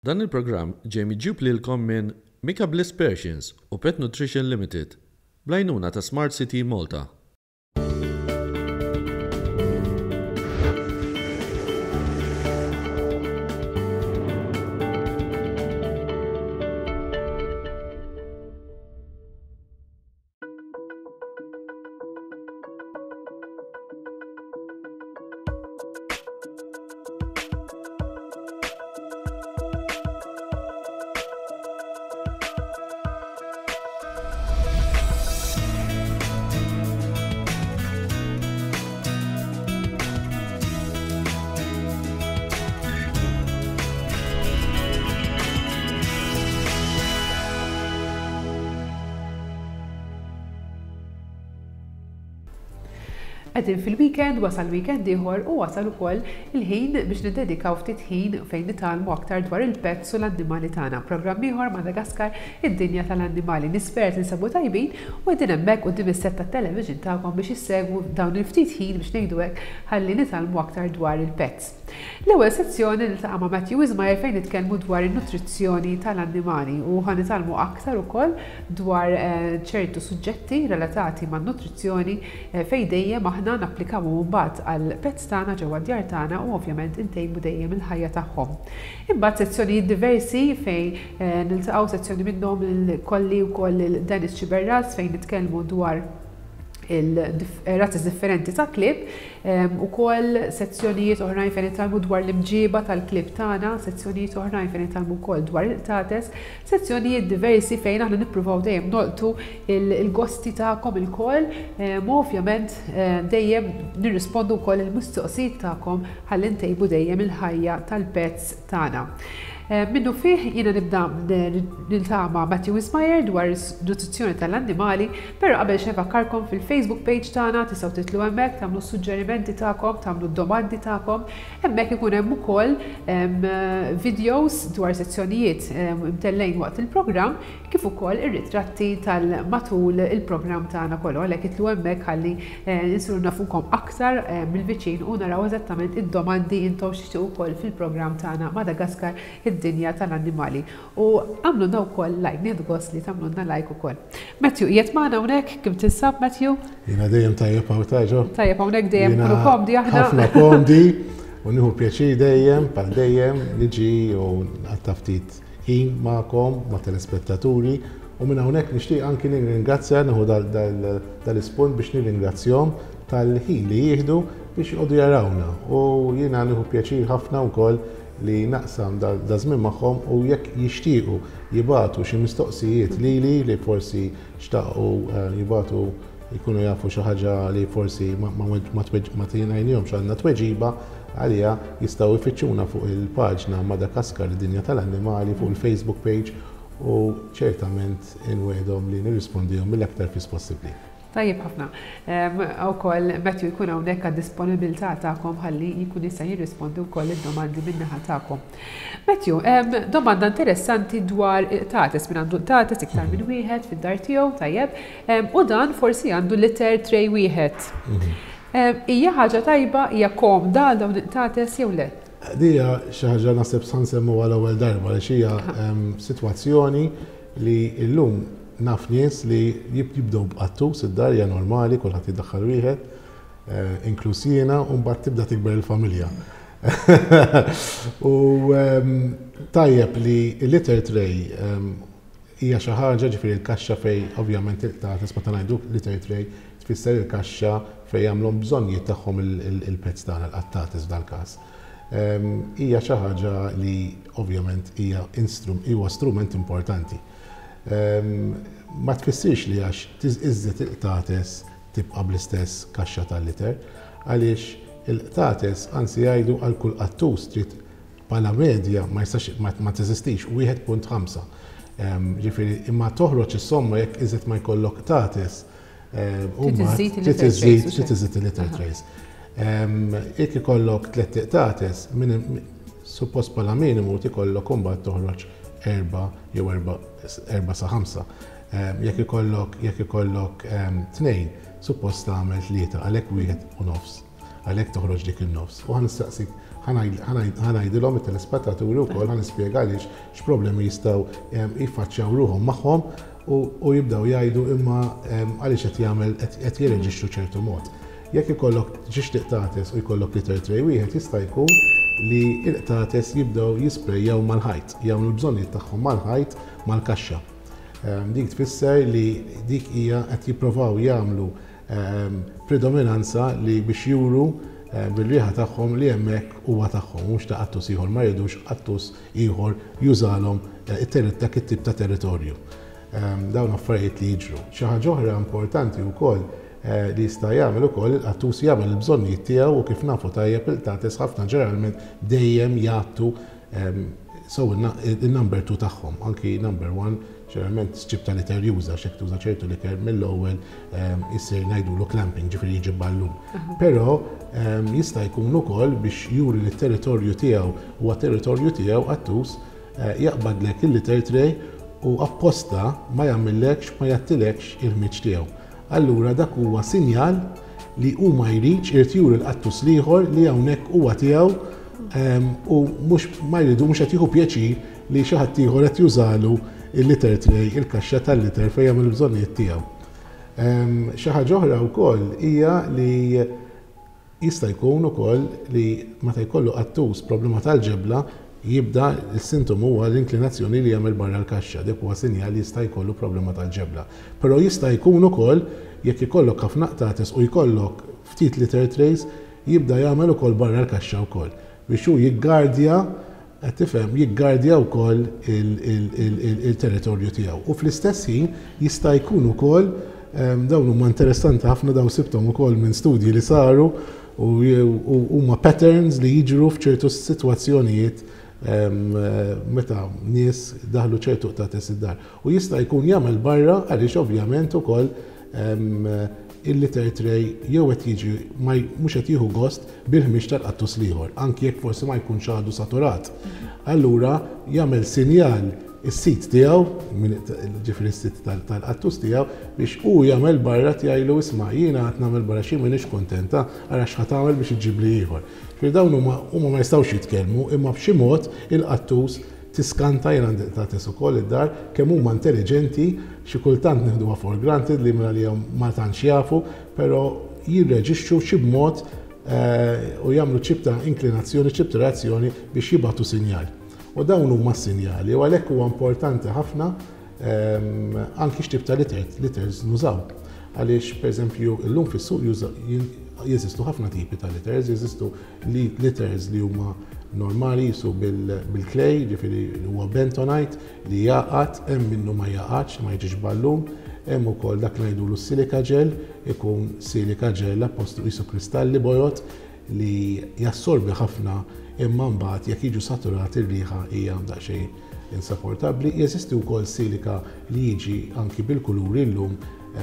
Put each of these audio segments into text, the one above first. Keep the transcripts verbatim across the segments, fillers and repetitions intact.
Dan il-programm ġej miġjub lilkom minn Mika Bliss Persians u Pet Nutrition Limited, bl-għajnuna ta' Smart City Malta. Qegħdin fil-weekend, wasal weekend ieħor u wasal ukoll il-ħin biex niddedikaw ftit ħin fejn nitgħallmu aktar dwar il-pets u l-annimali tagħna. Programm ieħor Madagaskar, id-dinja tal-annimali. Nispera tinsabu tajbin u qegħdin hemmhekk quddiem is-set tat-television tagħkom biex issegwu dawn il-ftit ħin biex ngħidu hekk ħalli nitgħallmu aktar dwar il-pets. L-ewwel sezzjoni niltaqa' ma' Matthew Wismayer fejn nitkellmu dwar in-nutrizzjoni tal-annimali u ħa nitgħallmu aktar ukoll dwar ċertu suġġetti relatati man-nutrizzjoni fejn dejjem aħna napplikaw mbagħad għall-pets tagħna ġewwa d-djar tagħna u ovvjament intejbu dejjem il-ħajja tagħhom. Imbagħad sezzjonijiet diversi fejn niltaqgħu sezzjoni minnhom il-kolli wkoll lil Dennis Xiberras fejn nitkellmu dwar il-razzi differenti ta' klieb, ukoll sezzjonijiet oħrajn fejn nitgħallmu dwar l-imġiba tal-klieb tagħna, sezzjonijiet oħrajn fejn nitgħallmu wkoll dwar il-qtates, sezzjonijiet diversi fejn aħna nippruvaw dejjem nolqtu il-gosti tagħkom ilkoll, u ovvjament dejjem nirrispondu wkoll il-mistoqsijiet tagħkom ħalli ntejbu dejjem il-ħajja tal-pets tagħna. Minnu fih jiena nibda niltaqa' ma' Matthew Wismayer dwar nutrizzjoni tal-annimali, però qabel xejn fakkarkom fil-Facebook page tagħna tistgħu titlu hemmhekk, tagħmlu suġġerimenti tagħkom, tagħmlu domandi tagħkom. Hemmhekk ikun hemm ukoll videos dwar sezzjonijiet imtellgħin waqt il-programm kif ukoll ir-ritratti tal-matul il-programm tagħna kollu, għalhekk itlu hemmhekk ħalli nsiru nafukom aktar mill-viċin u naraw eżattament id-domandi intom x'tixtiequ ukoll fil-programm tagħna Madagaskar, id-dinja tal-annimali. U għamlulna wkoll like, nieħdu gost li tagħmlulna like ukoll. Matthew, qiegħed magħna hawnhekk, kif tinsab Matthew? Jiena dejjem tajjeb hawn taġo. Tajjeb hawnhekk dejjem kunu komdi aħna. Ħafna komdi u nieħu pjaċir dejjem, bħal dejjem niġi u nqatta' ftit ħin magħkom, ma' telespettaturi, u minn hawnhekk nixtieq anki nirringrazzja, nieħu dal-ispunt biex nirringrazzjahom tal-ħin li jieħdu biex jqogħdu jarawna. U jiena nieħu pjaċir ħafna wkoll li naqsam da żmien magħhom, u jekk jixtiequ jibatu xi mistoqsijiet lili li forsi xtaqu jibatu jkunu jafu xi ħaġa li forsi ma tingħajnihomx għandna tweġiba għalija, jistgħu jfittxuna fuq il-paġna Madagaskar id-dinja tal-annimali fuq il-Facebook page u ċertament inwegħdhom li nirrispondihom mill-aktar fis possibbli. Tajjeb ħafna. Ukoll Matthew jkun hawnhekk għad-disponibilità tagħkom ħalli jkun jista' jirrispondi wkoll id-domandi min-naħa tagħkom. Matthew, domanda interessanti dwar qtates, min għandu qtates iktar minn wieħed fid-dar tiegħu, tajjeb, u dan forsi għandu litter tray wieħed. Hija ħaġa tajba, hija komda għal dawn il-qtates jew le? Dija xi ħaġa naħseb sa nsemmu għal ewwel darba għaliex hija sitwazzjoni li llum naf nies li jibdew b'qattus id-dar, hija normali, kulħadd jiddaħħal wieħed, inkluż jiena, u mbagħad tibda tikber il-familja. U tajjeb li l-litter tray hija xi ħaġa, ġifieri l-kaxxa fejn ovvjament il-qtates, meta ngħidu litter tray tfisser il-kaxxa fejn jagħmluhom bżonnijiet tagħhom il-pets tagħna, l-qattates f'dal-każ. Hija xi ħaġa li ovvjament hija huwa strument importanti. Ma tfissirx li għax iżżid il-qtates tibqa' bl-istess kaxxa tal-liter, għaliex il-qtates anzi jgħidu għal kull qattus trid bħala medja ma jistax ma teżistix wieħed punt ħamsa. Ġifieri imma toħroġ is-somma jekk iżid ma jkollok qtates, trid iżid il-litter trays. Jekk ikollok tliet qtates, suppost bħala minimu tikollok imbagħad toħroġ erba' jew erba' sa ħamsa. Jekk ikollok, jekk ikollok tnejn, suppost tagħmel tlieta, għalhekk wieħed u nofs. Għalhekk toħroġ dik in-nofs. U ħa nistaqsik, Ħa ngħidilhom it-telespettaturi wkoll, ħa nispjega għaliex, x'problemi jistgħu jiffaċċjaw ruħhom magħhom u jibdew jgħidu imma għaliex qed jagħmel, qed jirreġixxu ċertu mod. Jekk ikollok ġiex qtates u jkollok litter tray wieħed, jista' jkun li l-qtates jibdew jisprejjaw mal-ħajt, jagħmlu l-bżonnijiet tagħhom mal-ħajt, mal-kaxxa. Dik tfisser li dik hija qed jippruvaw jagħmlu predominanza li biex juru bil-riħa tagħhom li hemmhekk huwa tagħhom, mhux ta' qattus ieħor, ma jridux qattus ieħor jużalhom dak it-tip ta' territorju. Dawn affarijiet li jiġru. Xi ħaġa oħra importanti wkoll li jista' jagħmel ukoll il-qattus, jagħmel il-bżonnijiet tiegħu, u kif nafu tajjeb, il-qtates ħafna ġeneralment dejjem jagħtu so il-number two tagħhom, anki number one ġeneralment x'tip ta' litter juża, xek tuża ċertu litter mill-ewwel issir ngħidulu clumping, ġifieri jiġi ballun. Però jista' jkun ukoll biex juri li t-territorju tiegħu huwa territorju tiegħu, qattus jaqbadlek il-litter tray u apposta ma jagħmillekx, ma jgħattilekx il-ħmieġ tiegħu. Allura dak huwa sinjal li hu ma jridx, irid juri l-qattus l-ieħor li hawnhekk huwa tiegħu u mhux ma jridu, mhux qed jieħu pjaċir li xi ħadd ieħor qed jużalu il-litter tray, il-kaxxa tal-litter fejn jagħmel il-bżonnijiet tiegħu. Xi ħaġa oħra wkoll hija li jista' jkun ukoll li meta jkollu qattus problema tal-ġebla, jibda il-sintomu huwa l-inklinazzjoni li jagħmel barra l-kaxxa, dik huwa sinjal li jista' jkollu problema tal-ġebla. Però jista' jkun ukoll jekk ikollok ħafna qtates u jkollok ftit litter trays, jibda jagħmel ukoll barra l-kaxxa wkoll biex hu jiggardja, qed tifhem, jiggardja wkoll il-territorju tiegħu. U fl-istess ħin jista' jkun ukoll, dawn huma interessanti ħafna, dawn sibthom ukoll minn studji li saru u huma patterns li jiġru f'ċertu sitwazzjonijiet meta nies daħlu ċertu qtates id-dar. U jista' jkun jagħmel barra għaliex ovvjament ukoll il-litter tray jew qed jiġi mhux qed jieħu gost bil-ħmieġ tal-qattus l-ieħor, anki jekk forsi ma jkunx għadu saturat. Allura jagħmel sinjal is-sit tiegħu, ġifieri s-sit tal-qattus tiegħu, biex hu jagħmel barra, jgħidlu: "Isma', jiena qed nagħmel barra xi m'iniex kuntenta, ara x'ħa tagħmel biex iġġibli ieħor." Ġifieri dawn huma huma ma jistgħux jitkellmu, imma b'xi mod il-qattus tiskanta, jien għandi qtates ukoll id-dar, kemm huma intelligenti, xi kultant nieħduha for granted li minn għalihom ma tantx jafu, però jirreġixxu xi b'mod u jagħmlu ċip ta' inklinazzjoni, ċip ta' reazzjoni biex jibgħatu sinjal. U dawn huma s-sinjali, u għalhekk huwa importanti ħafna anki x'tip ta' litters nużaw. Għaliex, pereżempju, illum fis-suq jeżistu ħafna tipi ta' litters, jeżistu litters li huma normali jisu bil-clay, ġifieri huwa bentonite li jaqgħad, hemm minnu ma jaqgħadx, ma jiġix ballun, hemm ukoll dak li ngħidulu silica gel, ikun silica gel appostu jisu kristalli bojod li jassorbi ħafna, imma mbagħad jekk jiġu saturati r-riħa hija daqsxejn insapportabbli. Jeżisti wkoll silika li jiġi anki bil-kuluri llum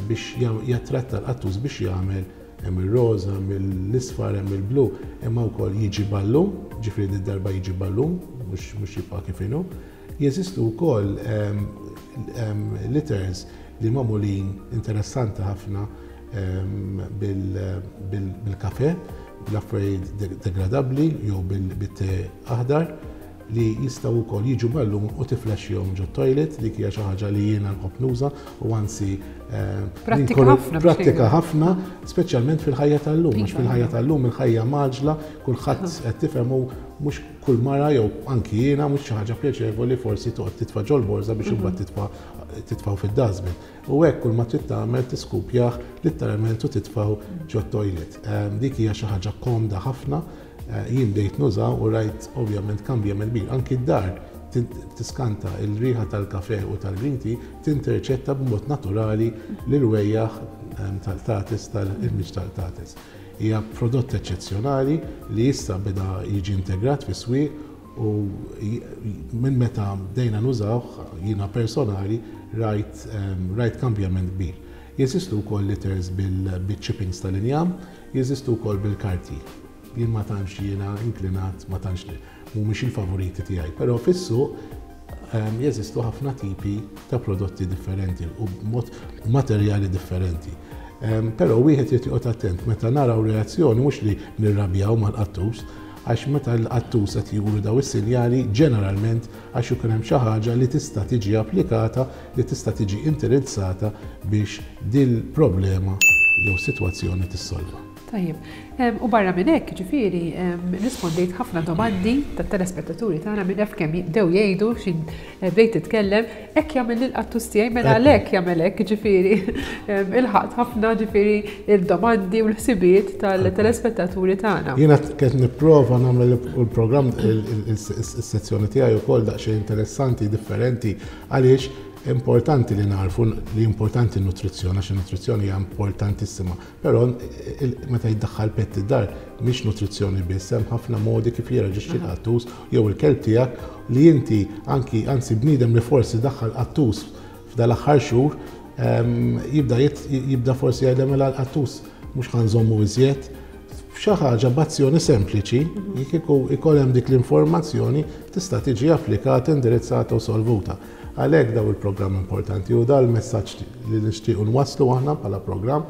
biex jattratta l-qattus biex jagħmel, hemm ir-roża, hemm l-isfar, hemm il-blu, imma wkoll jiġi ballun, ġifieri darba jiġi ballun, mhux jibqa' kif inhu. Jeżistu wkoll litters li magħmulin interessanti ħafna bil-kafe, bl-affarijiet degradabbli jew bit-te aħdar li jistgħu wkoll jiġu ballun u tiflexxihom ġo toilet. Dik hija xi ħaġa li jiena nħobb nuża u anzi Prattika ħafna. Prattika ħafna, speċjalment fil-ħajja tal-lum, għax fil-ħajja tal-lum il-ħajja mgħaġġla, kulħadd qed tifhem, mhux kull mara jew anki jiena, mhux xi ħaġa pjaċevoli forsi toqgħod titfa' ġol-borża biex imbagħad titfa' titfgħu fid-dustbin. U hekk kull ma trid tagħmel tiskupjah litteralment u titfgħu ġo toilet. Dik hija xi ħaġa komda ħafna, jien bdejt nuża u rajt ovvjament kambjament kbir. Anki d-dar tiskanta, il-riħa tal-kafe u tal-green tea tinterċetta b'mod naturali l-irwejjaħ tal-qtates, tal-ħmieġ tal-qtates. Hija prodott eċċezzjonali li issa beda jiġi integrat fis-swieq u minn meta bdejna nużawh, jiena personali rajt rajt kambjament kbir. Jeżistu wkoll litters bil-chippings tal-injam, jeżistu wkoll bil-karti. Jien ma tantx jiena inklinat, ma tantx, mhumiex il-favoriti tiegħi, però fis-suq jeżistu ħafna tipi ta' prodotti differenti u b'mod materjali differenti. Però wieħed irid joqgħod attent meta naraw reazzjoni, mhux li nirrabjaw mal-qattus, Għax meta l-qattus qed juru daw is-sinjali, ġeneralment għax ikun hemm xi ħaġa li tista' tiġi applikata, li tista' tiġi indirizzata biex dil-problema jew sitwazzjoni tissolva. Tajjeb. U barra minn hekk, ġifieri, rispondejt ħafna domandi tat-telespettaturi tagħna minn naf kemm jibdew jgħidu x'in eh, bdejt titkellem, hekk jagħmel il-qattus tiegħi, mela għalhekk jagħmel hekk, ġifieri ilħaqt ħafna, ġifieri, il-domandi u l-ħsibiet tal-telespettaturi tagħna. Jiena qed nipprova nagħmel il-programm, is-sezzjoni tiegħi wkoll daqsxejn interessanti, differenti, għaliex importanti li narfu li importanti n-nutrizzjoni, għax in-nutrizzjoni hija importantissima. Però meta jiddaħħal pet id-dar, mhix nutrizzjoni biss, hemm ħafna modi kif jirreaġixxi l-qattus jew il-kelb tiegħek li inti anki, anzi bniedem li forsi daħħal qattus f'dal-aħħar xhur, jibda jibda forsi jgħidlek, "Mela l-qattus mhux ħa nżommu iżjed." Xi ħaġa b'azzjoni sempliċi, kieku ikoll hemm dik l-informazzjoni, tista' tiġi applikata, indirizzata u solvuta. Għalhekk daw il-programm importanti u dal-messaġġ li nixtiequ nwasslu aħna bħala programm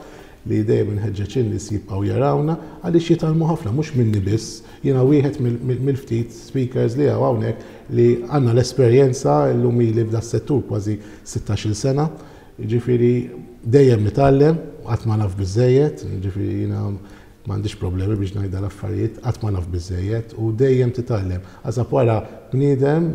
li dejjem inħeġġeġ in-nies jibqgħu jarawna għaliex jitgħallmu ħafna, mhux minni biss, jiena wieħed mill-ftit speakers li hawn hawnhekk li għandna l-esperjenza. Llum ili f'da settur kważi sittax-il sena, ġifieri dejjem nitgħallem, qatt ma naf biżejjed, ġifieri jiena m'għandix problemi biex ngħidha l-affarijiet, qatt ma naf biżejjed u dejjem titgħallem. Għażab wara bniedem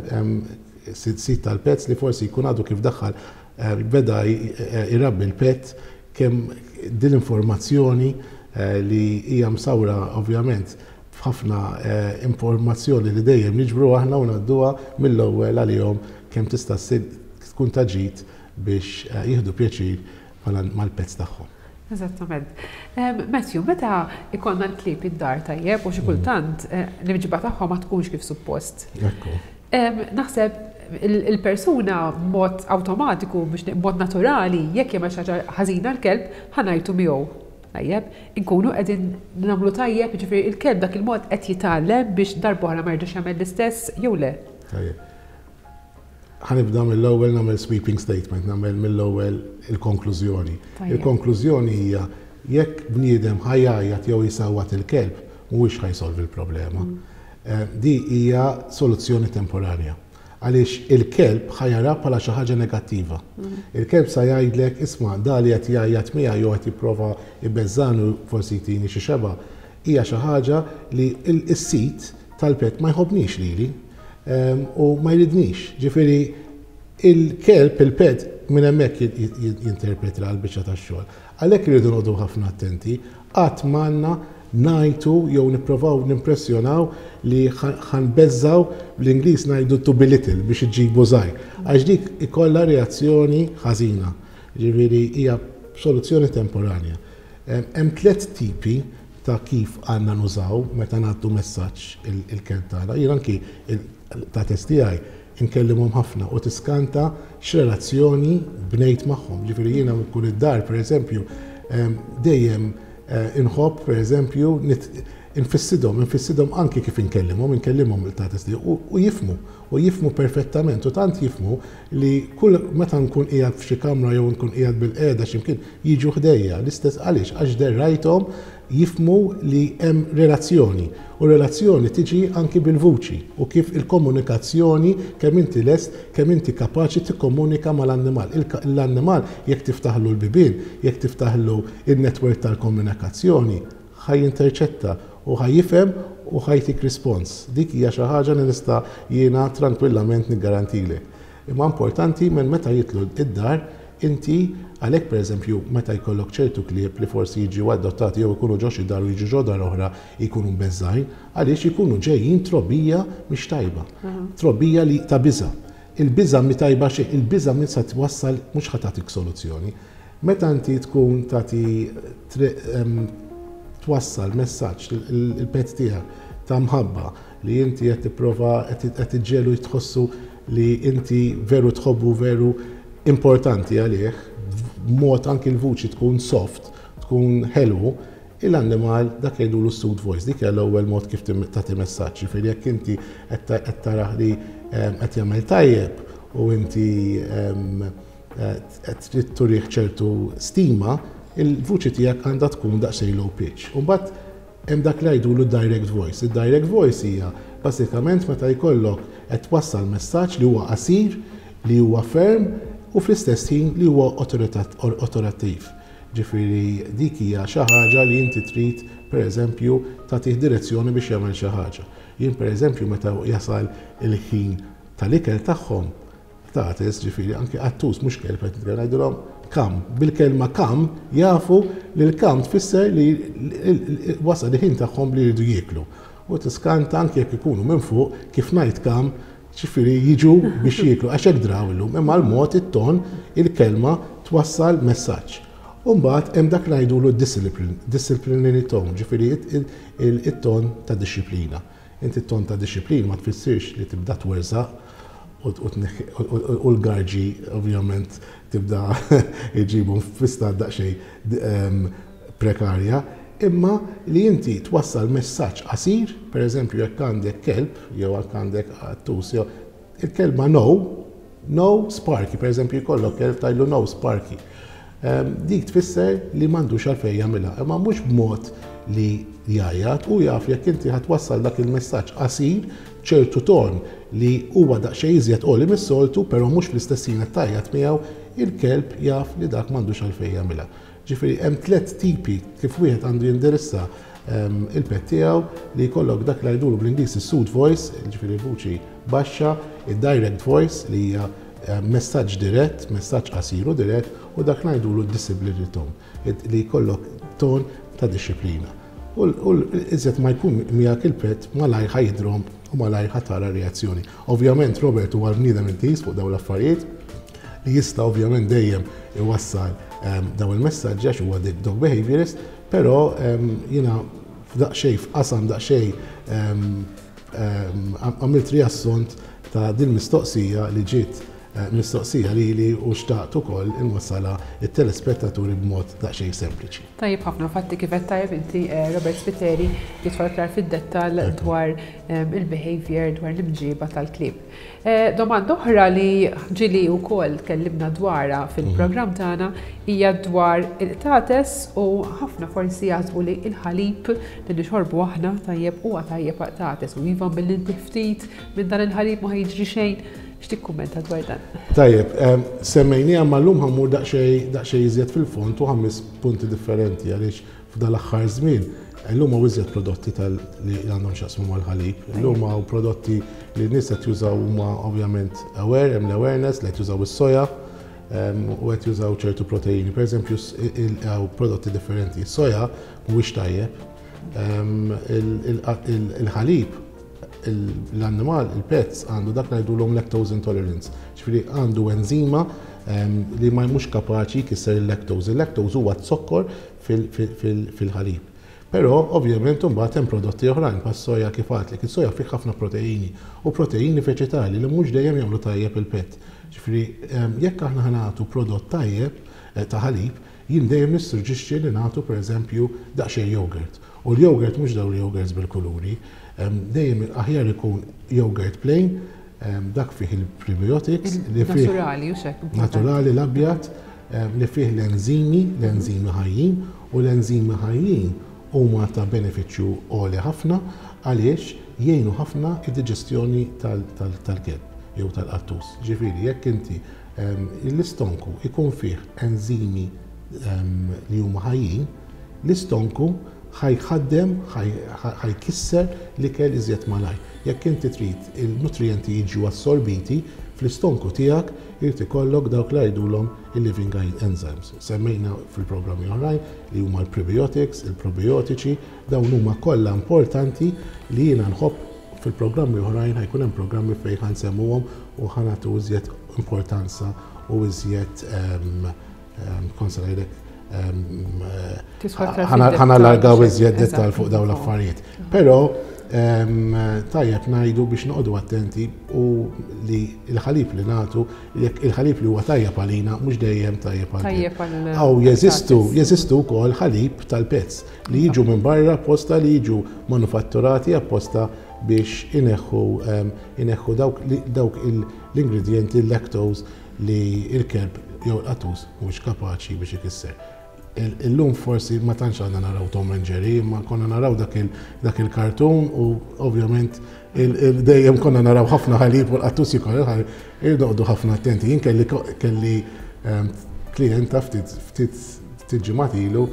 sit tal-pets li forsi jkun għadu kif daħħal, eh, beda irabbi l-pet, kemm din l-informazzjoni eh, li hija msawra ovvjament f'ħafna eh, informazzjoni li dejjem niġbru aħna u ngħadduha mill-ewwel għalihom, kemm tista' tkun ta' ġid biex jieħdu pjaċir mal-pets tagħhom. Eżattament. Matthew, meta ikollna l-klieb id-dar, tajjeb, u xi kultant l-imġiba tagħhom ma tkunx kif suppost. Naħseb il-persuna mod awtomatiku, biex mod naturali, jekk jagħmel xi ħaġa ħażina l-kelb, ħa ngħajtu miegħu. Tajjeb, inkunu qegħdin nagħmlu tajjeb, ġifieri il-kelb dak il-mod qed jitgħallem biex darb'oħra ma jerġax jagħmel l-istess jew le? Tajjeb. Ħa nibda mill-ewwel nagħmel sweeping statement, nagħmel mill-ewwel il-konklużjoni. Il-konklużjoni hija jekk bniedem ħa jgħajjat jew jisawwat il-kelb, mhuwiex ħa jsolvi l-problema. Mm. Eh, di hija soluzzjoni temporanja. Għaliex il-kelb ħa jara bħala xi ħaġa negattiva. Mm. Il-kelb sa jgħidlek, "Isma', dali qed jgħajjat miegħi jew qed jipprova jbeżżani, forsi jtini xi xeba', hija xi ħaġa li s-sit tal-pet ma jħobbnix lili u ma jridnix." Ġifieri il-kelb, il-pet, minn hemmhekk jinterpreta l-biċċa tax-xogħol. Għalhekk irridu noqogħdu ħafna attenti, qatt m'għandna ngħajtu jew nipprovaw nimpressjonaw li ħa nbeżżgħu, bl-Ingliż ngħidu to belittle, biex iġibu żgħir. Għax dik ikollha reazzjoni ħażina. Ġifieri hija soluzzjoni temporanja. Hemm tliet tipi ta' kif għandna nużaw meta nagħtu messaġġ il-kelb tagħna. Jien anki il-qtates tiegħi inkellimhom ħafna u tiskanta x'relazzjoni bnejt magħhom. Ġifieri jiena nkun id-dar, pereżempju, dejjem eh, inħobb, pereżempju, infissidhom, infissidhom anki kif inkellimhom, inkellimhom il-qtates u jifhmu, u jifhmu perfettament, u tant jifhmu li kull meta nkun qiegħed f'xi kamra jew nkun qiegħed bil-qiegħda x'imkien, jiġu ħdejja, l-istess. Għaliex? Għax derrajthom jifhmu li hemm relazzjoni u relazzjoni tiġi anki bil-vuċi u kif il-komunikazzjoni, kemm inti lest, kemm inti kapaċi tikkomunika mal-annimal. L-annimal jekk tiftaħlu l-bibien, jekk tiftaħlu il-network tal-komunikazzjoni, ħa jinterċetta u ħa jifhem u ħa jtik rispons. Dik hija xi ħaġa li nista' jiena tranquillament niggarantilek. Imma importanti minn meta jidħlu id-dar inti għalhekk, pereżempju, meta jkollok ċertu klieb li forsi jiġu adottati jew ikunu ġo xi dar u jiġu ġo dar oħra, jkunu mbeżżgħin, għaliex ikunu ġejjin trobbija mhix tajba. Trobbija li ta' biża. Il-biża mi tajba xejn, il-biża min sa twassal, mhux ħa tagħtik soluzzjoni. Meta inti tkun tagħti twassal messaġġ il-pet tiegħek ta' mħabba li inti qed tipprova qed iġġelu jitħossu li inti veru tħobbu, veru importanti għalih, mod anki l-vuċi tkun soft, tkun ħelu, il-annimal dak jgħidulu soothe voice, dik hija l-ewwel mod kif tagħti messaġġ. Ġifieri jekk inti qed tarah li qed jagħmel tajjeb u inti qed trid turih ċertu stima, il-vuċi tiegħek għandha tkun daqsxejn low pitch. U mbagħad Hemm dak li jgħidulu direct voice. Il-direct voice hija basikament meta jkollok qed twassal messaġġ li huwa qasir, li huwa ferm u fl-istess ħin li huwa awtorittattiv. Ġifieri dik hija xi ħaġa li inti trid, pereżempju, tagħtih direzzjoni biex jagħmel xi ħaġa. Jien, pereżempju, meta jasal il-ħin tal-ikel tagħhom, qtates, ġifieri anke qattus, mhux kelb qed ngħidulhom "come". Bil-kelma "come" jafu li l-"come" tfisser li wasal il-ħin tagħhom li jridu jieklu. U tiskanta, anke jekk ikunu minn fuq, kif ngħid "come", ġifieri jiġu biex jieklu, għax hekk draw illum, imma l-mod, it-ton, il-kelma twassal messaġġ. Umbagħad hemm dak li ngħidulu disciplinary tone, ġifieri it-ton ta' disciplina. Inti t-ton ta' disciplina ma tfissirx li tibda twerżaq u l-garġi ovvjament tibda iġibu f'istat daqsxejn prekarja, imma li inti twassal messaġġ qasir. Per eżempju, jekk għandek kelb, jew jekk għandek qattus, jew il-kelma "no", "no Sparky", per eżempju, jkollok kelb, tgħidlu "no, Sparky". Dik tfisser li m'għandux għalfejn jagħmilha, imma mhux b'mod li jgħajjat, u jaf jekk inti ħa twassal dak il-messaġġ qasir, ċertu ton li huwa daqsxejn iżjed għoli mis-soltu, però mhux fl-istess ħin tgħajjat miegħu, il-kelb jaf li dak m'għandux għalfejn jagħmilha. Ġifieri hemm tliet tipi kif wieħed għandu jindirissa ehm, il-pet tiegħu, li jkollok dak li jgħidulu bl-Ingliż is-soothe voice, ġifieri vuċi baxxa, id-direct voice li hija ehm, messaġġ dirett, messaġġ qasir u dirett, u dak ngħidulu disciplinary tone, li jkollok ton ta' disciplina. U iżjed ma jkun miegħek il-pet, malajr ħa jidrom u malajr ħa tara reazzjoni. Ovvjament Robert huwa l-bniedem intiż fuq dawn l-affarijiet li jista' ovvjament dejjem iwassal ehm, daw il-messaġġi għax huwa dog behaviorist, però ehm, jiena f'daqsxejn f'qasam daqsxejn ehm, għamilt riassunt ta' din mistoqsija li ġiet eh, mistoqsija li li u xtaqt ukoll inwassalha it-telespettaturi b'mod daqsxejn sempliċi. Tajjeb ħafna, fatti kif qed tajjeb inti, eh, Robert Spiteri jidħol aktar fid-dettall dwar il-behavior, dwar l-imġiba tal-klieb. Eh, domanda oħra li ġieli wkoll tkellimna dwarha fil-programm tagħna hija dwar il-qtates, u ħafna forsi jaħsbu li il-ħalib li nixorbu aħna tajjeb huwa tajjeb qtates u iva billi ftit minn dan il-ħalib ma jiġri xejn. X'tikkummenta dwar dan? Tajjeb, semmejniha, imma llum ħa mmur daqsxejn iżjed fil-fond u ħames punti differenti, għaliex f'dal-aħħar żmien illum hawn iżjed prodotti tal li għandhom x'jaqsmu mal-ħalib. Illum hawn prodotti li n-nies qed jużaw, huma ovvjament aware, hemm l-awareness li qed jużaw is-soja u qed jużaw ċertu proteini. Per eżempju, hawn prodotti differenti. Soja mhuwiex tajjeb. Il-ħalib, l-annimal, il-pets għandu dak ngħidulhom lactose intolerance. Ġifieri għandu enzima li ma mhux kapaċi jkisser il-lactose. Il-lactose huwa zokkor fil-ħalib. Però ovvjament imbagħad hemm prodotti oħrajn bħas-soja, kif għedtlek, is-soja fih ħafna proteini u proteini veġetali li mhux dejjem jagħmlu tajjeb il-pet. Ġifieri jekk aħna ħa nagħtu prodott tajjeb eh, ta' ħalib, jien dejjem nissuġġixxi li nagħtu, pereżempju, daqsxejn yogurt. U l-yogurt mhux dawn yogurts bil-kuluri, dejjem aħjar ikun yogurt plain, dak fih il-prebiotics, li fih naturali u xek. Naturali l-abjad, li fih l-enzimi, l-enzimi ħajjin, u l-enzimi ħajjin huma ta' benefiċċju għoli ħafna għaliex jgħinu ħafna id-diġestjoni tal-kelb jew tal-qattus. Ġifieri jekk inti l-istonku ikun fih enzimi li huma ħajjin, l-istonku ħa jħaddem, ħa jkisser l-ikel iżjed malajr. Jekk inti trid il-nutrienti jiġu assorbiti fl-istonku tiegħek, irid ikollok dawk li jgħidulhom il-living enzymes. Semmejna fil-programmi oħrajn li huma l-prebiotics, il-probiotiċi, dawn huma kollha importanti li jiena nħobb. Fil-programmi oħrajn ħa jkun hemm programmi fejn ħa nsemmuhom u ħa nagħtu iżjed importanza u iżjed, kont se ngħidlek, ħa nallargaw iżjed dettal fuq dawn l-affarijiet. Però tajjeb ngħidu biex noqogħdu attenti u li il-ħalib li nagħtu, jekk il-ħalib li huwa tajjeb għalina mhux dejjem tajjeb għal. Aw jeżistu, jeżistu wkoll ħalib tal-pets li jiġu minn barra apposta, li jiġu manufatturati apposta biex ineħħu ineħħu dawk dawk l-ingredienti, l-lactose, li il-kelb jew l-qattus mhux kapaċi biex ikisser. Illum forsi ma tantx għandna naraw Tom and Jerry, ma konna naraw dak il-kartun u ovvjament dejjem konna naraw ħafna ħalib u l-qattus jikol il-ħalib, irridu ħafna attenti. Jien kelli kelli ehm, klienta ftit ftit ġimgħat ilu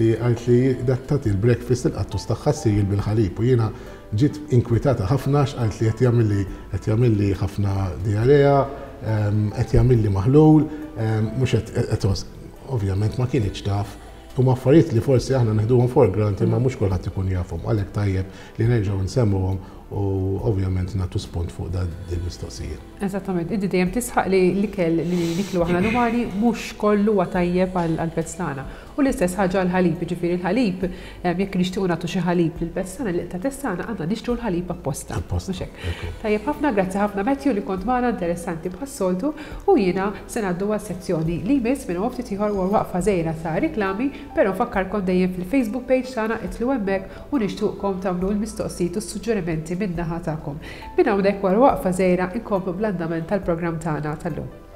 li għalt li tagħti il-breakfast il-qattus tagħha cereal bil-ħalib u jiena ġiet inkwitata ħafna għalt li qed jagħmilli qed jagħmilli ħafna diarrea, ehm, qed jagħmilli maħlul, ehm, mhux qed. Ovvjament ma kienx taf. Huma affarijiet li forsi aħna neħduhom for granted, imma mhux kulħadd ikun jafhom, għalhekk tajjeb li nerġgħu nsemmuhom u ovvjament nagħtu spunt fuq dan il-mistoqsijiet. Eżattament, inti dejjem tisħaq li l-ikel li niklu aħna l-umani mhux kollu huwa tajjeb għall-pets tagħna. U l-istess ħaġa l-ħalib, jiġifieri l-ħalib, jekk nixtiequ nagħtu xi ħalib lill-pets tagħna, lill-qtates tagħna, għandna nixtru l-ħalib apposta. Apposta. Mhux hekk? Tajjeb ħafna, grazzi ħafna, Matthew, li kont magħna, interessanti bħas-soltu, u jiena se ngħaddu għas-sezzjoni li jmiss minn ftit ieħor wara waqfa żgħira ta' riklami, però nfakkarkom dejjem fil-Facebook page tagħna, itilgħu hemmhekk u nixtuqkom tagħmlu l-mistoqsijiet u s-suġġerimenti min-naħa tagħkom. Minn hawnhekk wara waqfa żgħira inkomplu bl-andament tal-programm tagħna tal-lum.